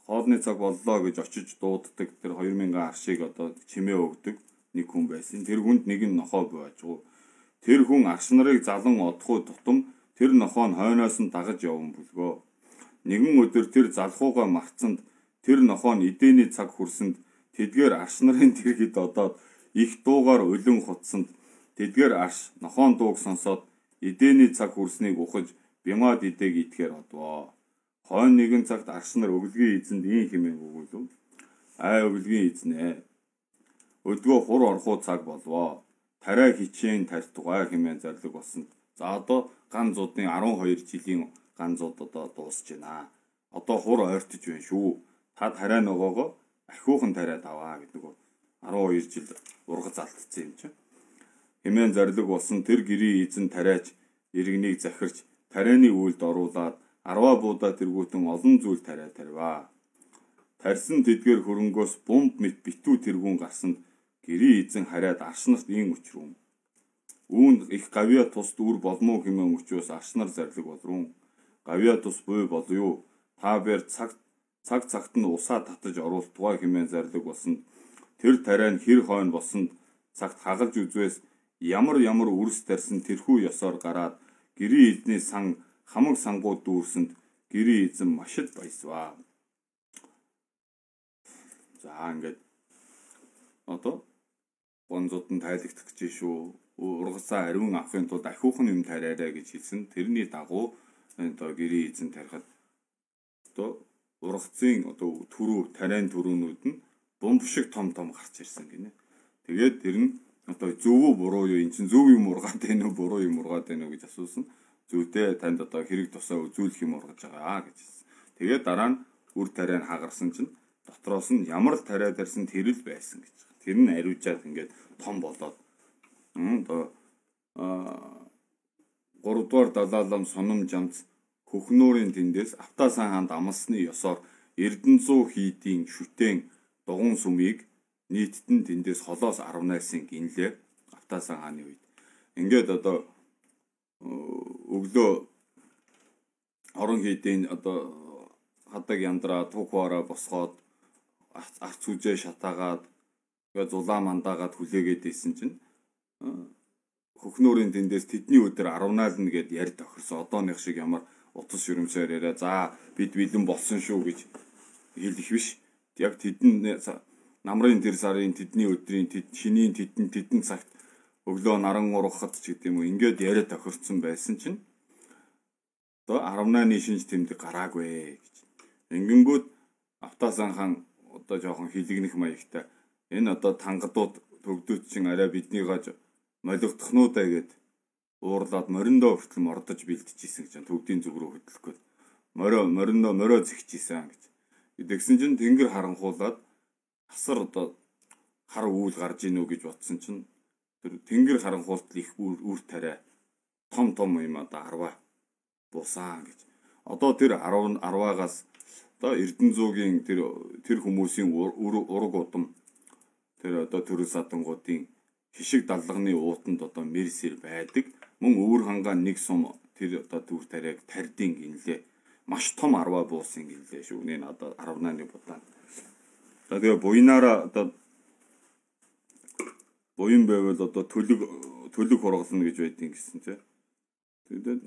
хоолны цаг боллоо гэж очиж дууддаг тэр 2000 аршийг одоо чимээ өгдөг нэг хүн байсан. Тэр хүнд нэгэн нохоо буй ажгүй. Тэр хүн арш нарыг залан одохгүй тутам тэр нохоо нь хойноос нь дагаж явсан бүлгөө. Нэгэн өдөр тэр залхууга марцсанд тэр нохоо нь эдээний цаг хүрсэнд тэдгээр арш нарын тэргэд одоод их дуугаар улин хутсанд тэдгээр арш нохоон дууг сонсоод эдээний цаг хүрснийг ухаж бямаад идэг итгэхээр одвоо. Хойно нэгэн цагт арш нар өглөгийн эзэнд ийм хэмээн өгүүлв. Өглөгийн эзнээ. Өдгөө хур орхуу цаг болвоо. Тариа хичээн тарьтугай хэмээн зарлиг болсон. За одоо ган зуудны 12 жилийн ган зууд одоо дуусж байна. Одоо хур ойртож байна шүү. Та тариа ногоогоо ахиухан тариад аваа гэдэг нь 12 жил ургац алдсан юм чинь. Хэмээн зарлиг болсон тэр гэрийн эзэн тариач иргэнийг захирч тарианы үйлд оруулаад арваа буудаа тэргүүтэн олон зүйл тариа тарваа. Тарьсан тэдгээр хөрөнгөөс бомб мэт битүү тэргүүн гарсанд гэрийн эзэн хараад арш нарт ийн өчрүүн. Үүнд их гавья тус дүр болмоо хэмээн өчөөс арш нар зарлиг болрун. Гавья тус буй болё. Та бэр цаг цагт нь усаа татаж оруултугай хэмээн зарлиг болсон. Тэр тариа нь хэр хойно болсонд цагт хагалж үзвээс ямар үрс тарьсан тэрхүү ёсоор гараад гэрийн эзний сан хамаг сангууд дүүрсэнд гэрийн эзэн маш их баясваа. За ингээд одоо гонзууд нь тайлагдах гэж шүү. Ургацаа ариун авахын тулд ахиухан юм тариарай гэж хэлсэн. Тэрний дагуу одоо гэрийн эзэн тарихад одоо ургацын одоо түрүү тариан түрүүнүүд нь бомб шиг том гарч ирсэн гинэ. Тэгээд тэр нь одоо зөв үү буруу юу эн чинь зөв юм ургаад байна уу буруу юм ургаад байна уу гэж асуусан. Зөвдөө танд одоо хэрэг тусаа үзүүлэх юм ургаж байгаа гэж хэлсэн. Тэгээд дараа нь үр тариан хагарсан чинь дотроос нь ямар л тариа тарьсан тэр л байсан гэж. Тэр нь ариужаад ингээд том болоод одоо 3 дугаар далаалам соном жамц хөхнүүрийн тэндээс Автасан хаанд амлсны ёсоор Эрдэнэзүү хийдийн шүтэн дугуун сүмийг нийтэд нь тэндээс холоос 18-ын гинлээ Автасан хааны үед. Ингээд одоо өглөө орон хийдийн одоо хадаг яндраа тугваараа босгоод арц үжээ шатаагаад тэгээ зулаа мандаагаад хүлээгээд ийсэн чинь хөхнүүрийн тэндээс тэдний өдөр 18 гэд ярь тохирсон. Одооных шиг ямар утас шүрмсээр яриа. За бид бэлэн болсон шүү гэж хэлэх биш. Яг тэдэн намрын тэр сарын тэдний өдрийн шинийн тэдэн цагт өглөө наран ургахад ч гэдэг юм уу ингээд яриа тохирсон байсан чинь одоо 18-ны шинж тэмдэг гараагүй гэж. Ингэнгүүт Автасан хаан одоо жоохон хилэгнэх маягтай энэ одоо тангадууд төгдөөд чин арай биднийгаа молигдохнуудаа гэд уурлаад мориндоо хүртэл мордож бэлтжижсэн гэж төгдийн зүг рүү хөдлөх гээд мориндоо зэгчижсэн гэж. Тэгсэн чинь тэнгэр харанхуулаад асар одоо хар үүл гарж ийнү гэж бодсон чинь тэр тэнгэр харанхуулт их үр тариа том юм одоо 10 буусан гэж. Одоо тэр 10-аагаас одоо Эрдэнэзуугийн тэр хүмүүсийн ураг удам тэр одоо төрөл садангуудын хишиг даллагны уутанд одоо мэрсэр байдаг. Мөн өвөр хангаа нэг сум тэр одоо дүр тариаг тарьдин гинлээ. Маш том 10 буусан гинлээ шүү. Энэ одоо 18-ны будаан. Тэгээ буйнаараа одоо буян байвал одоо төлөг хургална гэж байдیں۔ Гэсэн тийм. Тэгээд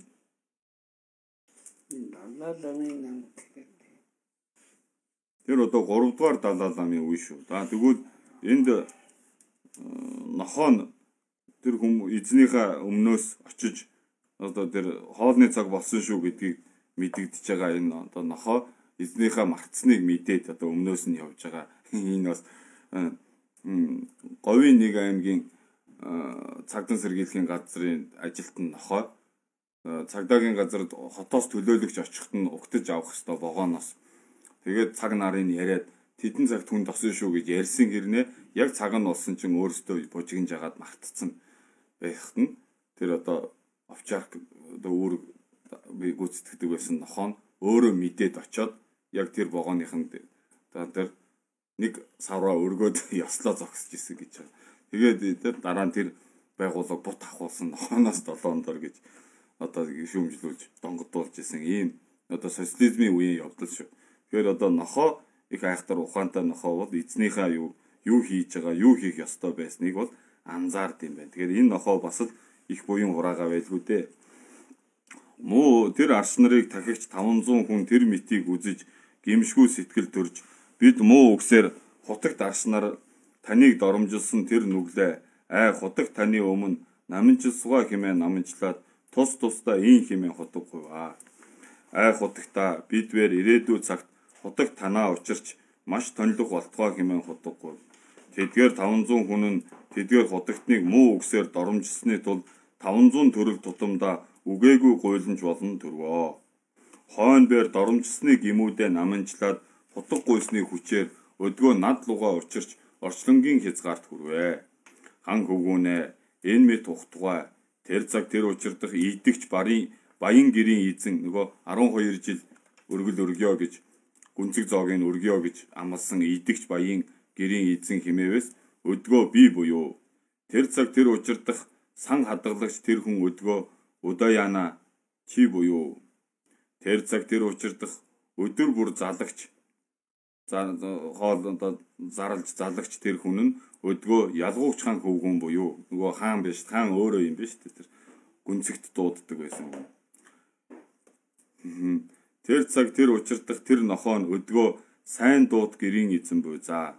тэр одоо 3 дугаар Далай ламын үе шүү. Тэгвэл энд нохоо тэр эзнийхээ өмнөөс очиж одоо тэр хоолны цаг болсон шүү гэдгийг мэдэгдэж байгаа энэ одоо нохоо эзнийхээ мартсныг мэдээд одоо өмнөөс нь явж байгаа. Энэ бас Говийн нэг аймгийн цагдаа сэргийлэхийн газрын ажилтан нохоо цагдаагийн газарт хотоос төлөөлөгч очихт нь угтаж авах ёстой вагоноос. Тэгээд цаг нарын яриад тэдэн цагт хүн тосон шүү гэж ярьсан хэрнээ яг цаг нь болсон чинь өөрөөсөө бужигнж агаад мартцсан байхад нь тэр одоо овчарк одоо өөр гүйцэтгэдэг байсан нохоо нь өөрөө мэдээд очоод яг тэр вагоныхын тэр нэг савраа өргөөд ёслоо зогсож исэн гэж байна. Тэгээд дараа нь тэр байгууллага бут ахуулсан нохооноос 7 дор гэж одоо шүүмжлүүлж донгодуулж исэн ийм одоо социализмын үеийн явдал шүү. Тэгэхээр одоо нохоо их айхтар ухаантай нохоо бол эзнийхээ юу хийж байгаа, юу хийх ёстой байсныг бол анзаард юм байна. Тэгэхээр энэ нохоо бас л их буян хураагаа байлгүй дээ. Муу тэр арс нарыг дахигч 500 хүн тэр мэтийг үзэж гимшгүй сэтгэл төрж бид муу үгсээр хутагт арс нар таныг доромжилсан тэр нүглээ хутаг таны өмнө намынчилсугаа хэмээн намынчлаад тус тусдаа ийн хэмээн хутаггүй ба. Хутагта бидвэр ирээдүйн цагт хутаг танаа учирч маш тонлог болтгоо хэмээн хутаггүй. Тэдгээр 500 хүн нь тэдгээр хутагтныг муу үгсээр доромжилсны тулд 500 төрөл тутамдаа үгээгүй гуйланж болно төрвөө. Хойн бээр доромжилсны гимүүдээ намынчлаад хутаг гуйсны хүчээр өдгөө над лугаа учирч орчлонгийн хязгаарт хүрвэ. Хан хөвгүүнээ энэ мэд тухтугай тэр цаг тэр учирдах ийдэгч баян гэрийн эзэн нөгөө 12 жил өргөл өргөё гэж гүнзэг зоогийг өргөё гэж амласан ийдэгч баян гэрийн эзэн химээвэс өдгөө би буюу тэр цаг тэр учирдах сан хадгалагч тэр хүн өдгөө удааяна чи буюу тэр цаг тэр учирдах өдөр бүр залагч хоолондоо зарлж залагч тэр хүн нь өдгөө ялгууч хаан хөвгүүн буюу нөгөө хаан биш хаан өөрөө юм биш тэр гүнзэгт дууддаг байсан. Тэр цаг тэр учирдах тэр нохоо нь өдгөө сайн дууд гэрийн эзэн буй за.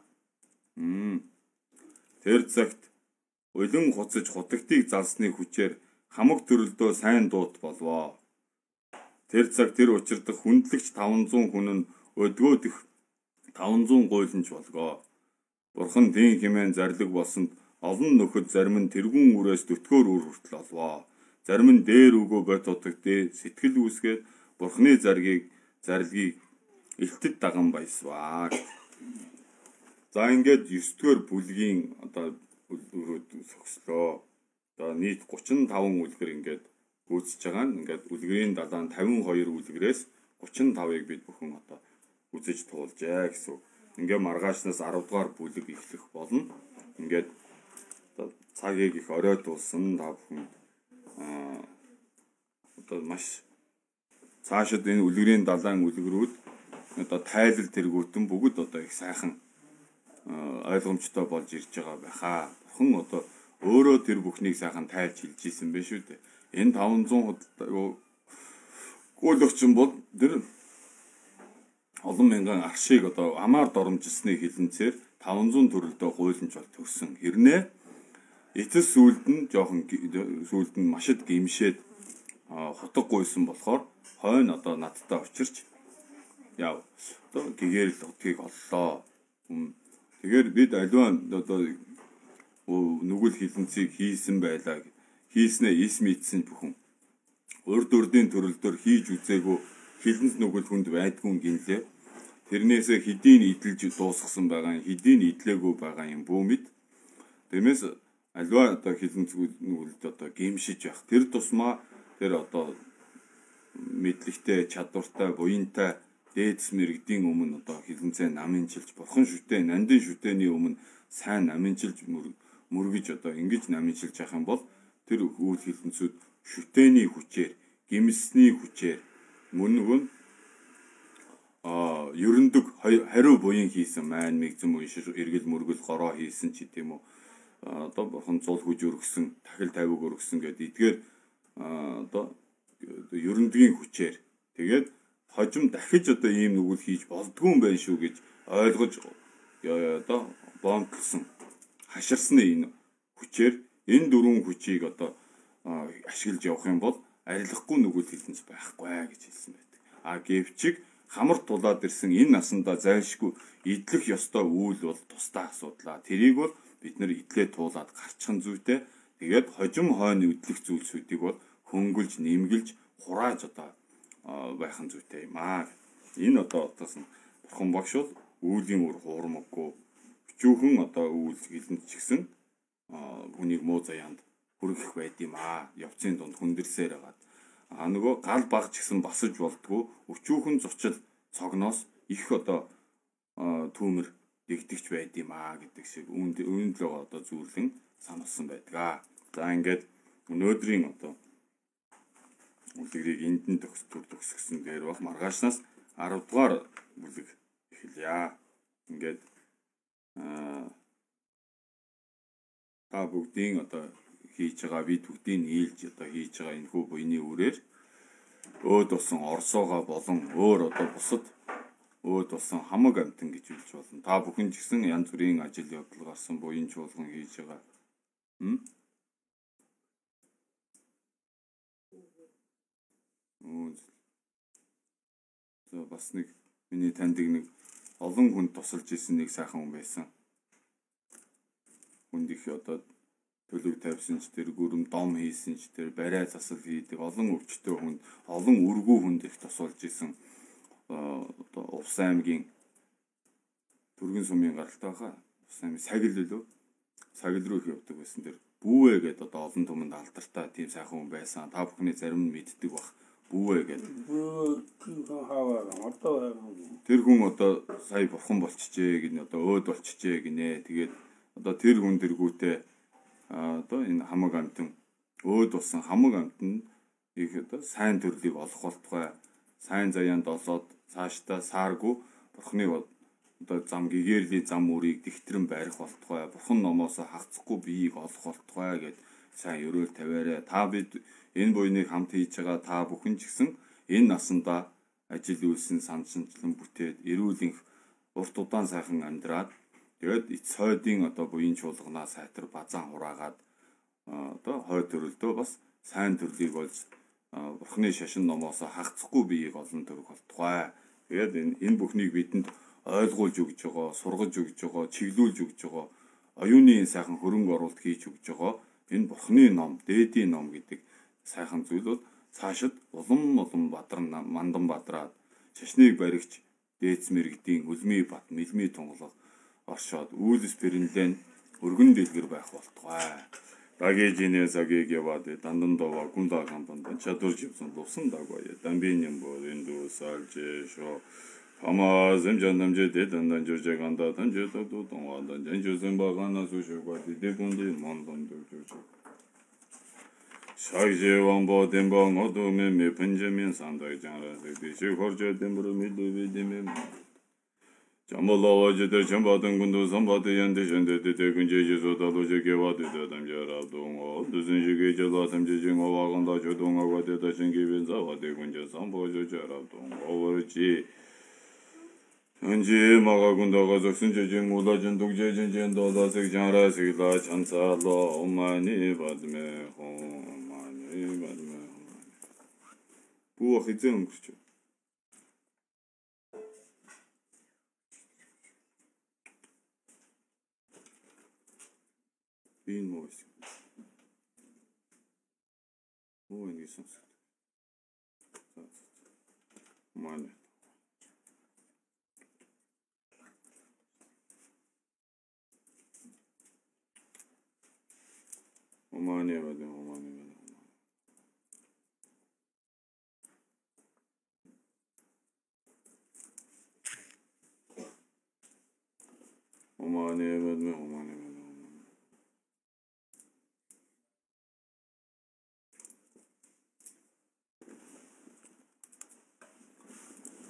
Тэр цагт улин хуцаж хутагтыг залсны хүчээр хамаг төрөлдөө сайн дууд болвоо. Тэр цаг тэр учирдах хүндлэгч 500 хүн нь өдгөө дэх 500 гуйланч болгоо. Бурхан дийн хэмээн зарлиг болсонд олон нөхөд зарим нь тэргүүн үрээс төтгөөр үр хүртэл олвоо. Зарим нь дээр үгөө бод утагтээ сэтгэл үүсгээд Бурханы заргийг элтэд даган баясваа. За ингээд 9-р бүлгийн одоо согслоо. Одоо нийт 35 үлгэр ингээд гүйцэж байгаа нь ингээд үлгэрийн далайн 52 үлгэрээс 35-ыг бид бүхэн одоо үзэж туулжээ гэсэн. Ингээ маргаашнаас 10 дугаар бүлэг эхлэх болно. Ингээд цагийг их оройтуулсан та бүхэн одоо маш цаашид энэ үлгэрийн далайн үлгэрүүд одоо тайлал тэргүүтэн бүгд одоо их сайхан ойлгомжтой болж ирж байгаа байхаа. Бурхан одоо өөрөө тэр бүхнийг сайхан тайлж хэлж ийсэн байх шүү дээ. Энэ 500 гүйлэгчин бол тэр олон мянган аршийг одоо амаар доромжилсны хилэнцээр 500 төрөлдөө гуйланж бол төгсөн. Хэрнээ эцэс сүлд нь жоохон сүлд нь машид гимшээд хотгогүйсэн болохоор хойно одоо надтай учирч яв одоо гэгээр л утгийг оллоо. Тэгэхээр бид аливаа одоо нүгэл хилэнцгийг хийсэн байлаа. Хийснээ эс мэдсэн бүхэн. Урд урдын төрөлдөр хийж үзээгүй хилэнц нүгэл хүнд байдгүй гинлээ. Тэрнээсээ хэдийн идэлж дуусгасан байгаа, хэдийн идлээгүй байгаа юм бүү мэд. Тиймээс аливаа одоо хилэнц нүгэлд одоо гимшиж явах. Тэр тусмаа тэр одоо мэдлэгтэй, чадвартай, буянтай дээдс мэрэгдийн өмнө одоо хилэнцээ намынчилж, бурхан шүтээ, нандин шүтээний өмнө сайн намынчилж мөргөж одоо ингэж намынчилж явах юм бол тэр үйл хилэнцүүд шүтээний хүчээр, гимсний хүчээр мөн нөгөө ерөндөг хариу буян хийсэн маань мэгзэм уншиж эргэл мөргөл гороо хийсэн ч гэдэм үү одоо бурхан зул хүж өргөсөн тахил тавиг өргөсөн гэдэг эдгээр одоо ерөндөгийн хүчээр тэгээд хожим дахиж одоо ийм нүгэл хийж болдгүй юм байна шүү гэж ойлгож одоо бомтлсон хаширсны энэ хүчээр энэ дөрвөн хүчийг одоо ашиглаж явах юм бол арилахгүй нүгэл хилэнц байхгүй гэж хэлсэн байдаг. Гэвчиг хамар тулаад ирсэн энэ насандаа зайлшгүй идлэх ёстой үйл бол тусдаа асуудлаа. Тэрийг бол бид нэр идлээ туулаад гарчихсан зүйтэй. Тэгээд хожим хойно идлэх зүйлсүүдийг бол хөнгөлж, нэмгэлж, хурааж одоо байхын зүйтэй юм аа. Энэ одоо отоос нь бурхан багш бол үүлийн үр хуурмаггүй өчүүхэн одоо үйл хилэнц чигсэн хүнийг муу заяанд хүргэх байд юм аа. Явцын дунд хүндэрсээр байгаа. Нөгөө гал баг ч гэсэн басаж болдгоо өчүүхэн зочил цогноос их одоо түүмэр дэгдэгч байд юм аа гэдэг шиг үүнд л байгаа одоо зүйрлэн сануулсан байдаг. За ингээд өнөөдрийн одоо бүлэгийг энд нь төгсгсөн дээр баг маргаашнаас 10 дугаар бүлэг эхэлье. Ингээд та бүгдийн одоо хийж байгаа бид бүгдийн нийлж одоо хийж байгаа энэхүү буйны үрээр өөд болсон орсоогоо болон өөр одоо бусад өөд болсон хамаг амтан гэж хэлж болно. Та бүхэн ч гэсэн янз бүрийн ажил явдал гарсан буян чуулган хийж байгаа. Бас нэг миний таньдаг нэг олон хүнд тусалж исэн нэг сайхан хүн байсан. Хүнд их одоо төлөв тавьсан ч тэр гүрэм дом хийсэн ч тэр барай засал хийдэг олон өвчтөе хүнд олон үргүү хүнд их тусалж исэн одоо Увс аймгийн Түргэн сумын гаралтай хаа Увс аймгийн Сагил лөө Сагил руу их явдаг байсан. Тэр Бүүвэ гэдэг одоо олон түмэнд алдартай тийм сайхан хүн байсан. Та бүхний зарим нь мэддэг бах. Бүүвэ гэдэг. Тэр хүн одоо сая бурхан болчихжээ гинэ одоо өөд болчихжээ гинэ. Тэгээд одоо тэр хүн дэргүүтээ одоо энэ хамаг амтан өөд болсон хамаг амтан их одоо сайн төрлийг олох болтугай сайн заяанд олоод цаашдаа сааргүй бурхны одоо зам гэгэрлийн зам үрийг дихтрэн барих болтугай бурхан номоос хагацхгүй биеийг олох болтугай гэд сайн өрөөл тавиарай. Та бид энэ буйныг хамт хийж байгаа та бүхэн ч гэсэн энэ насандаа ажил үйлсэн санчинчлан бүтээд эрүүл урт удаан сайхан амьдраад тэгээд эц хойдын одоо буян чуулганаа сайтар базаан хураагаад одоо хой төрөлдөө бас сайн төрлийг болж бурхны шашин номоос хагацхгүй биеийг олон төрөх болтугай. Тэгээд энэ бүхнийг бидэнд ойлгуулж өгж байгаа, сургаж өгж байгаа, чиглүүлж өгж байгаа, оюуны сайхан хөрөнгө оруулалт хийж өгж байгаа энэ бурхны ном, дээдийн ном гэдэг сайхан зүйл бол цаашид улам бадар мандан бадраад шашныг баригч дээдс мэрэгдийн үлмий бат, мэлмий тунгалаг оршоод үйлс пэрэнлэн өргөн дэлгэр байх болтугай. Дагежинэ сагийг яваад дандан дова гунда кампан чадвар живсэн лусан дагвая. Дамбинин бо энду салжэ шо Ама земжандамжэ дэдандан журжаганда танжэдо тонвадан жанжүсэн багана сушугва дэдунди мондан дэвжү. Шайже вамбо дембо нодуме ме пенжамин сандай жанра дэши хоржэ дембро милуви деме Jambalavacadır çambatın kundu sambatı yandı şendedi tekunce cesuda loca kevatı dedem yarabdun o düzünce gece latım cecin o vakında çödün o vade taşın gibi zavatı kunce sambocu yarabdun o varıcı önce maga kunda kazaksun cecin ulacın duk cecin cen dolasık canra sıkla çansala umani badme umani badme Бүү хизээ өнгөрч. Энэ мөс. Оо энэ сонс. Манай. Омане бод омане. Омане бод омане.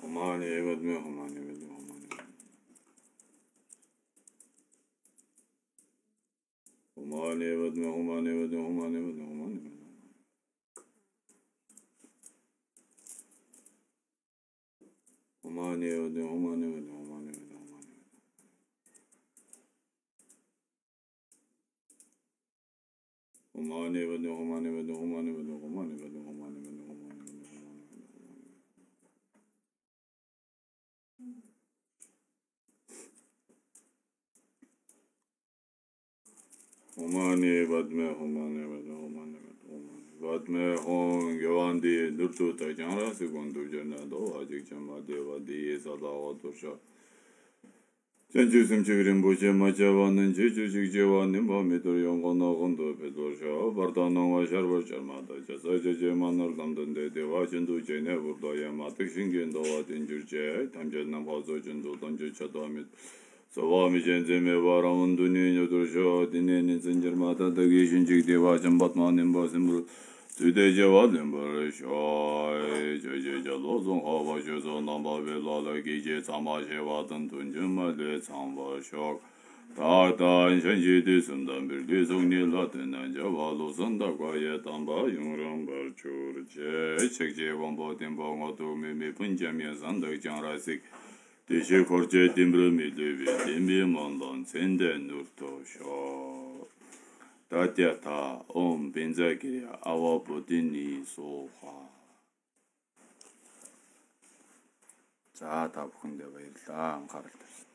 Омане бод омане. Omane bad me omane bad omane bad omane. Omane bad omane bad omane bad omane. Omane bad omane bad omane bad omane bad omane bad omane. Omane bad me omane bad omane bad omane. Bad me hon gavandi nurtu ta janra segundu jana do ajik chama deva di sadawa dosha. Janjusum chigrim boje majawanan jejujuk jewanin ba medur yongona gondo pedosha. Bardanon va sharvar charmada jasa jeje manar damdan de deva chindu jene burda yamatik shingen do adinjurje. Tamjanam bazo jindu danju chadamit. Savami jenzeme varamın dününe duruşu dinlenin zincirmata da geçince devacın batmanın basın tüdece vadın barış ay cece lozun hava şözon namba velala gece samaşe vadın tuncumale samvaşok Dağdan şenşidi sımdan bir lüzun nilatından cevalozun da gayet amba yumrum barçurce çekce vambodin bağma doğmimi pıncamya sandık canrasik Teşe korce timbre milevi tembi mandan senden nurtosho. Tatya ta om benzaki ava bodini soha. За та бүхэндээ баярлалаа анхаарал тавьсан.